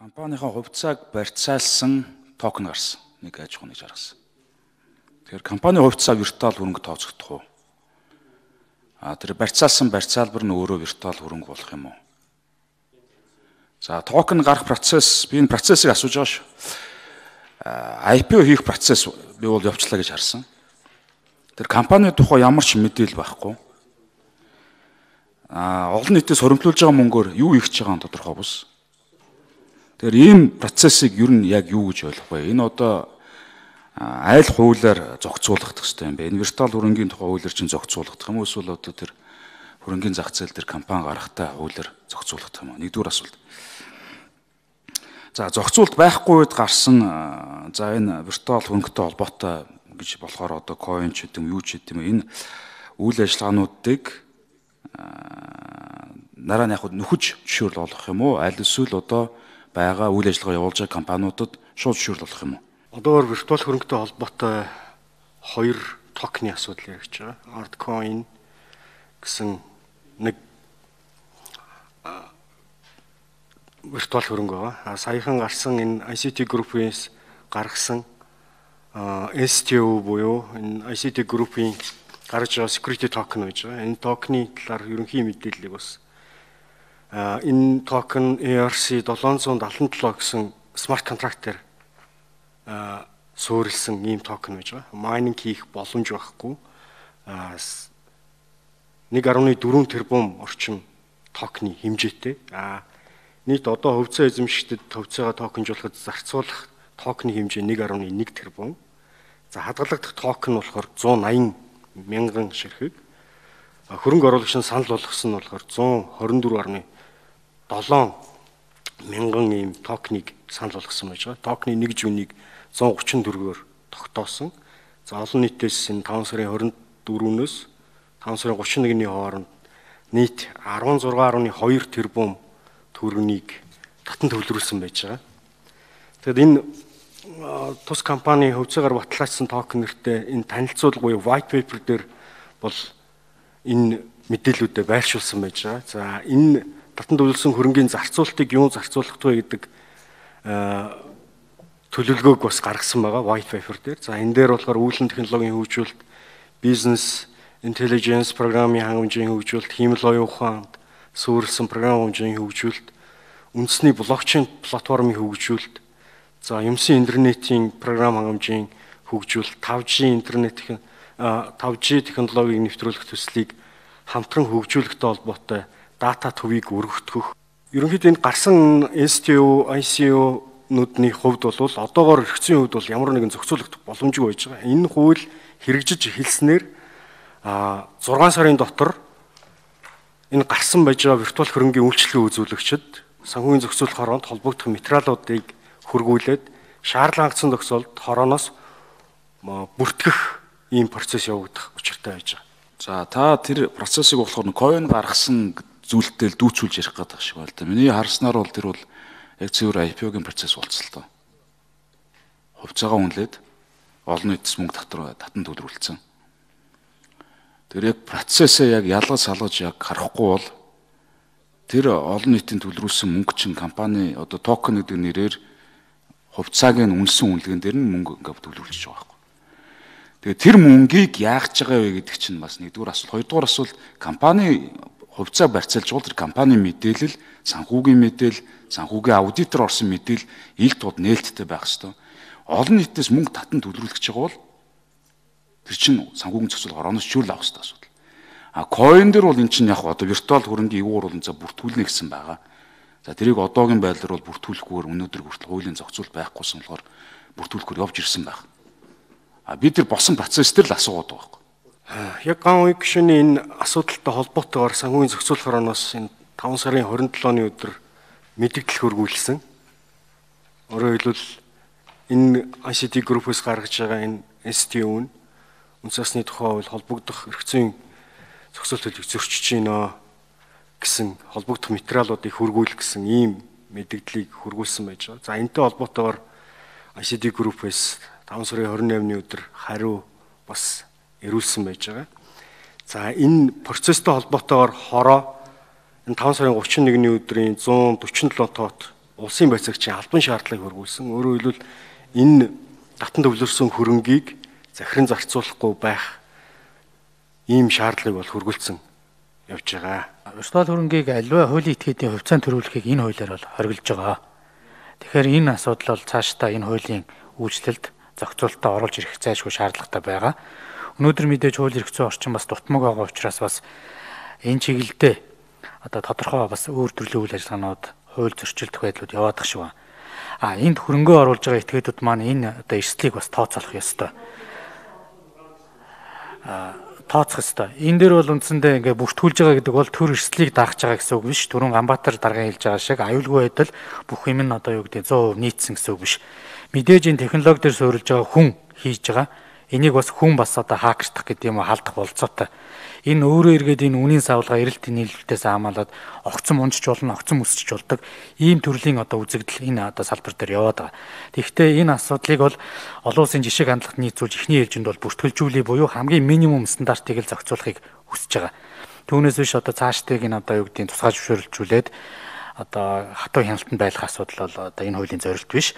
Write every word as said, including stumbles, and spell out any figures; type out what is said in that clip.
Компанийн хувьцааг барьцаалсан токен гарсан. Нэг аж ахуйн гэж гаргасан. Тэгэхээр компанийн хувьцаа виртуал хөрөнгө тооцогдох уу? А тэр барьцаалсан барьцаалбар нь өөрөө виртуал хөрөнгө болох юм уу? За токен гарах процесс, би энэ процессыг асууж байгаа шүү. ай пи о хийх процесс би бол явчлаа гэж харсан. Тэр компани тухай ямар ч мэдээлэл байхгүй. А олон нийтээс хоримтлуулж байгаа мөнгөөр юу хийж байгаа нь тодорхой бус. Тэгэхээр ийм процессыг ер нь яг юу гэж ойлгох вэ? Энэ одоо айл хуулиар зохицуулагдах хэрэгтэй юм бэ? Энэ виртуал хөрөнгийн тухай хуулиар чинь зохицуулагдах юм уу? Эсвэл одоо тэр хөрөнгийн зах зээл дээр компани гарахтаа хуулиар зохицуулагдах юм уу? Нэгдүгээр асуулт. За зохицуулт байхгүй үед гарсан за энэ виртуал хөрөнгөтэй холбоотой гэж болохоор одоо coin ч гэдэм юу ч гэдэм энэ үйл ажиллагаануудыг нараа нь яг нөхөж жишүүрэл олох юм уу? Аль эсвэл одоо байгаа үйл ажиллагаа явуулж байгаа компаниудад шууд жишүүрэл олох юм уу? Одоор виртуал хөрөнгөтэй холбоотой хоёр токены асуудал яригч байгаа. Artcoin гэсэн нэг виртуал хөрөнгө байгаа. А саяхан гарсан энэ ай си ти Group-ээс гаргасан эс ти о буюу энэ ай си ти Group-ийн гаргаж байгаа security token гэж байгаа. Энэ токены талаар ерөнхий мэдээллийг бас энэ токен и ар си seven seventy-seven гэсэн смарт контрактээр суурилсан ийм токен байж байгаа. Майнинг хийх боломж байхгүй. one point four тэрбум орчим токены хэмжээтэй. Нийт одоо хувьцаа эзэмшигчдэд хувьцаагаа токенжуулахад зарцуулах токены хэмжээ one point one тэрбум. За хадгалагдах токен болохоор one hundred eighty мянган ширхэг. Хөрөнгө оруулагч нь санал болгосон нь болохоор one twenty-four seven мянган ийм токеныг санал болгосон байж байгаа. Токены нэг жүнийг one thirty-four-оор тогтоосон. За олон нийтээс энэ five сарын twenty-four-өөс five сарын thirty-one-ны хооронд нийт sixteen point two тэрбум төгрөгийг татан төвлөрүүлсэн байж байгаа. Тэгэхэд энэ тус компани хувьцаагаар баталгаажсан токен нэртэй энэ танилцуулга буюу white paper дээр бол энэ мэдээллүүдэд байршуулсан байж байгаа. За энэ татан төвлөрсөн хөрөнгийн зарцуултыг юу зарцуулах вэ гэдэг төлөвлөгөөг бас гаргасан байгаа white paper дээр. За энэ дээр болохоор үйлдвэрлэлийн технологийн хөгжүүлэлт, бизнес intelligence програмын хангамжийн хөгжүүлэлт, хиймэл оюун ухаанд суурилсан програм хангамжийн хөгжүүлэлт, үндэсний блокчейн платформын хөгжүүлэлт, за юмсын интернетийн програм хангамжийн хөгжүүлэлт, five G интернет five G технологиг нэвтрүүлэх төслийг хамтран хөгжүүлэхтэй холбоотой дата төвийг өргөтгөх. Ерөнхийдөө энэ гарсан эс ти о, ай си о-нуудны хувьд бол одоогоор эргэцийн хувьд бол ямар нэгэн зохицуулагдах боломжгүй байж байгаа. Энэ хууль хэрэгжиж эхэлснээр six сарын дотор энэ гарсан байж байгаа виртуал хөрөнгийн үйлчлэгээ үзүүлэгчид санхүүгийн зохицуулах хороонд холбогдох материалуудыг хөргүүлээд шаардлагатай тохиолдолд хорооноос бүртгэх ийм процесс явагдах учиртай байж байгаа. За та тэр процессыг болохоор coin гаргасан зүйлтэй дүүцүүлж ярих гэдэг шиг байна л да. Миний харснаар бол тэр бол яг цэвэр ай пи о-гийн процесс болцсон л доо. Хувьцаагаа үнэлээд олон нийтэс мөнгө татвар татан төвлөрүүлсэн. Тэр яг процессээ яг ялгаж салгаж яг харахгүй бол тэр олон нийтийн төвлөрүүлсэн мөнгө чинь компани одоо токен гэдэг нэрээр хувьцааг нь үнэлсэн үнэлгэн дээр нь мөнгө ингээд төвлөрүүлж байгаа байхгүй. Тэгээ тэр мөнгийг яах гэж байгаа вэ гэдэг чинь бас нэгдүгээр асуулт. Хоёрдугаар асуулт компани хувьцаа барьцаалж бол тэр компани мэдээлэл, санхүүгийн мэдээлэл, санхүүгийн аудитор орсон мэдээлэл ил тод нээлттэй байх ёстой. Олон нийтээс мөнгө татан төвлөрүүлэх гэж байгаа бол тэр чинь санхүүгийн зохицуулалт орооноос чиглэл авах ёстой асуудал. А coin дээр бол эн чинь яг одоо виртуал хөрөнгийн юугаар бол за бүртгүүлнэ гэсэн байгаа. За тэрийг одоогийн байдлаар бол бүртгүүлэхгүйгээр өнөөдөр хүртэл хуулийн зохицуулалт байхгүйсэн болохоор бүртгүүлэхээр явж ирсэн байх. А бид тэр босон процесс дээр л асуугаад байгаа. Яг ган үе гишүүний энэ асуудалтай холбоотойгоор санхүүгийн зохицуулах орооноос энэ five сарын twenty-seven-ны өдөр мэдээлэл хөргүүлсэн. Өөрөөр хэлбэл энэ ай си ти Group-ээс гаргаж байгаа энэ эс ти о нь үндэс засны тухай хууль холбогдох эрхцэн зохицуулалтыг зөрчиж гинэ гэсэн холбогдох материалуудыг хөргүүлэх гэсэн ийм мэдээллийг хөргүүлсэн байж байгаа. За энэтэй холбоотойгоор ай си ти Group-ээс five сарын twenty-eighth-ны өдөр хариу бас ирүүлсэн байж байгаа. За энэ процесстэй холбоотойгоор хороо энэ five сарын thirty-one-ны өдрийн one forty-seven тоот улсын байцаагчийн албан шаардлагыг хөрвүүлсэн. Өөрөөр хэлбэл энэ татан төвлөрсөн хөрөнгийг захиран зарцуулахгүй байх ийм шаардлагыг бол хөргөлцсөн явж байгаа. Виртуал хөрөнгийг аливаа хуулийн этгээдийн хувьцаанд төрүүлэхийг энэ хуулиар бол хориглож байгаа. Тэгэхээр энэ асуудал бол цаашдаа энэ хуулийн үйлчлэлд зохицуулалтад оруулж ирэх зайлшгүй шаардлагатай байгаа. Өнөөдөр мэдээж хууль эрх зүйн орчин бас дутмаг байгаа учраас бас энэ чиглэлдээ одоо тодорхой бас өөр төрлийн үйл ажиллагаанууд, хууль зөрчилдөх байдлууд яваадах шиг байна. А энд хөрөнгөө оруулж байгаа этгээдүүд маань энэ одоо эрсдлийг бас тооцоолох ёстой. А тооцох ёстой. Энэ дээр бол үндсэндээ ингээ бүртгүүлж байгаа гэдэг бол төр эрсдлийг даах байгаа гэсэн үг биш. Түрүүн Ганбаатар даргын хэлж байгаа шиг аюулгүй байдал бүх юм нь одоо юу гэдэг цэвэр хувь нийцсэн гэсэн үг биш. Мэдээж энэ технологи дээр суурилж байгаа хүн хийж байгаа. Энийг бас хүн бас одоо хакердах гэдэг юм уу халдах болцоотой. Энэ өөрөө эргээд энэ үнийн савлгаа эрэлтийн нийлүүлэлтээс хамгаалаад огцом унжиж болно, огцом өсчих болдог. Ийм төрлийн одоо үзэгдэл энэ одоо салбар дээр яваад байгаа. Тэгэхдээ энэ асуудлыг бол олон улсын жишээг хандлагад нийцүүлж эхний ээлжинд бол бүртгэлжүүлээ буюу хамгийн минимум стандартыг л зохицуулахыг хүсэж байгаа. Түүнээс биш одоо цаашдыг энэ одоо юу гэдгийг тусгай зөвшөөрлжүүлээд одоо хатуу хяналтанд байлгах асуудал бол одоо энэ хуулийн зорилт биш.